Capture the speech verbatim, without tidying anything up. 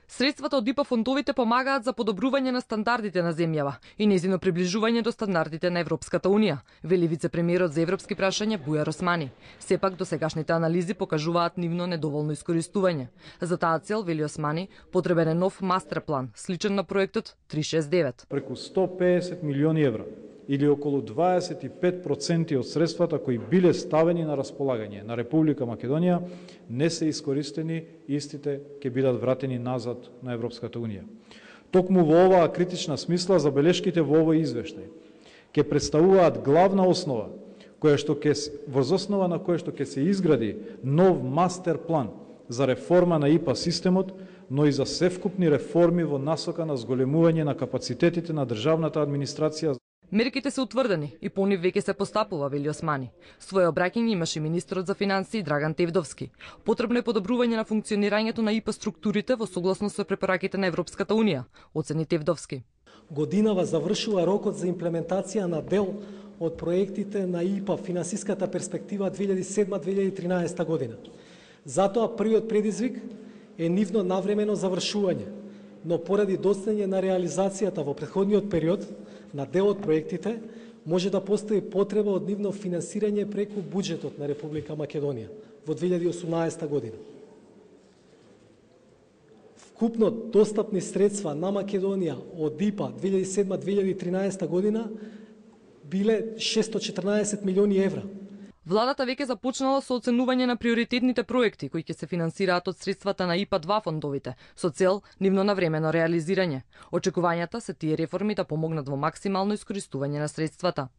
Средствата од ИПА фондовите помагаат за подобрување на стандардите на земјава и нејзино приближување до стандардите на Европската унија, вели вице-премиерот за европски прашања Бујар Османи. Сепак досегашните анализи покажуваат нивно недоволно искористување. За таа цел, вели Османи, потребен е нов мастер план, сличен на проектот три шест девет. Преку сто песет милиони евра или околу дваесет и пет проценти од средствата кои биле ставени на располагање на Република Македонија не се искористени, истите ќе бидат вратени назад на Европската унија. Токму во оваа критична смисла забелешките во овој извештај ќе представуваат главна основа која што ќе воз основа на која што ќе се изгради нов мастер план за реформа на ИПА системот, но и за севкупни реформи во насока на зголемување на капацитетите на државната администрација. Мерките се утврдени и по нив веќе се постапува, вели Османи. Своје обраќање имаше министерот за финансии Драган Тевдовски. Потребно е подобрување на функционирањето на ИПА структурите во согласно со препораките на Европската унија, оцени Тевдовски. Годинава завршува рокот за имплементација на дел од проектите на ИПА финансиската перспектива две илјади и седма до две илјади и тринаесета година. Затоа првиот предизвик е нивно навремено завршување, но поради доцнење на реализацијата во претходниот период на дел од проектите, може да постои потреба од нивно финансирање преку буџетот на Република Македонија во две илјади и осумнаесета година. Вкупно достапни средства на Македонија од ИПА две илјади и седма до две илјади и тринаесета година биле шестстотини и четрнаесет милиони евра. Владата веќе започнала со оценување на приоритетните проекти кои ќе се финансираат од средствата на ИПА два фондовите, со цел нивно навремено реализирање. Очекувањата се тие реформи да помогнат во максимално искористување на средствата.